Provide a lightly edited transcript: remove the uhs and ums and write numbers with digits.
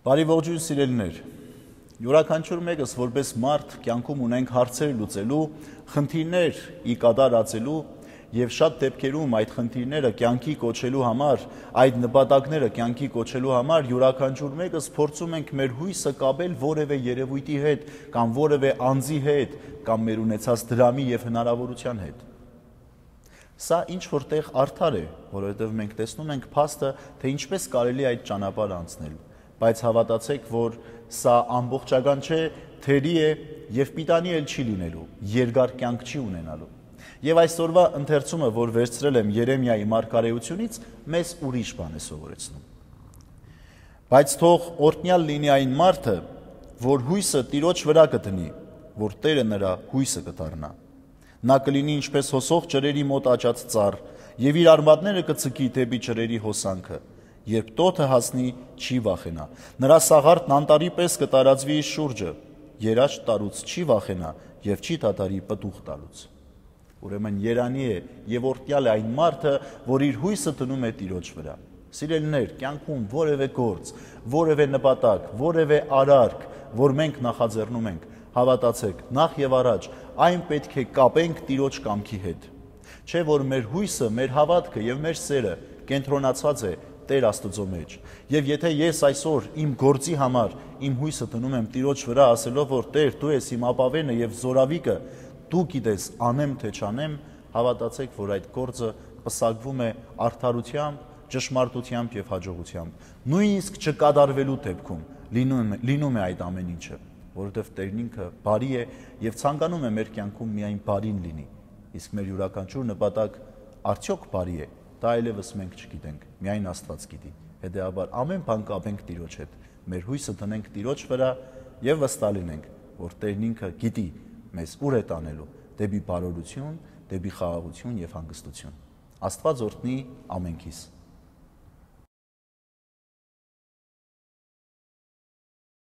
Բարի ողջույն սիրելիներ, յուրաքանչյուր մեկս որպես մարդ կյանքում ունենք հարցեր լուծելու, խնդիրներ ի կադար ածելու եւ շատ դեպքերում այդ խնդիրները կյանքի կոչելու համար, այդ նպատակները կյանքի կոչելու համար յուրաքանչյուր մեկս փորձում ենք մեր հույսը կապել որևէ երևույթի հետ կամ որևէ անձի հետ կամ մեր ունեցած դրամի եւ հնարավորության հետ։ Սա ինչ որտեղ արդար է, որովհետև մենք տեսնում ենք փաստը, թե ինչպես կարելի է այդ ճանապարհը անցնել, բայց հավատացեք, որ սա ամբողջական չէ, թերի է եւ պիտանի էլ չի լինելու, երկար կյանք չի ունենալու։ Եվ այսօրվա ընթերցումը, որ վերցրել եմ Երեմիայի մարգարեությունից, մեզ ուրիշ բան է սովորեցնում։ Բայց թող օրհնյալ լինի այն մարդը, որ հույսը Տիրոջ վրա կդնի, որ Տերը նրա հույսը կդառնա։ Նա կլինի ինչպես հոսող ջրերի մոտ աճած ծառ, եւ իր արմատները կցկի դեպի ջրերի հոսանքը, երբ տոթը հասնի, չի վախենա։ Նրա սաղարթն անտառի պես կտարածվի իր շուրջը, երաշտ տարուց չի վախենա եւ չի դադարի պտուղ տալուց։ Ուրեմն երանի է եւ օրհնյալ է այն մարդը, որ իր հույսը դնում է Տիրոջ վրա։ Սիրելիներ, կյանքում որևէ գործ, որևէ նպատակ, որևէ արարք, որ մենք նախաձեռնում ենք, հավատացեք, նախ եւ առաջ այն պետք է կապենք Տիրոջ կամքի հետ։ Չէ՞ որ մեր հույսը, մեր հավատքը եւ մեր սերը կենտրոնացած է Տեր Աստծո մեջ։ Եվ եթե ես այսօր իմ գործի համար իմ հույսը դնում եմ Տիրոջ վրա, ասելով որ Տեր, դու ես իմ ապավենը եւ զորավիկը, դու գիտես անեմ թե չանեմ, հավատացեք, որ այդ գործը պսակվում է արդարությամբ, ճշմարտությամբ եւ հաջողությամբ։ Նույնիսկ չկատարվելու դեպքում լինում է այդ ամեն ինչը, որովհետև Տերն ինքը բարի է եւ ցանկանում է մեր կյանքում միայն բարին լինի։ Իսկ մեր յուրաքանչյուր նպատակ արդյոք բարի է, դա այլևս մենք չգիտենք, միայն Աստված գիտի։ Հետեւաբար ամեն բան կապենք Տիրոջ հետ, մեր հույսը դնենք Տիրոջ վրա եւ վստահ լինենք, որ Տերն ինքը գիտի մեզ ուր է տանելու՝ դեպի բարօրություն, դեպի խաղաղություն եւ հանգստություն։ Աստված օրհնի ամենքիս։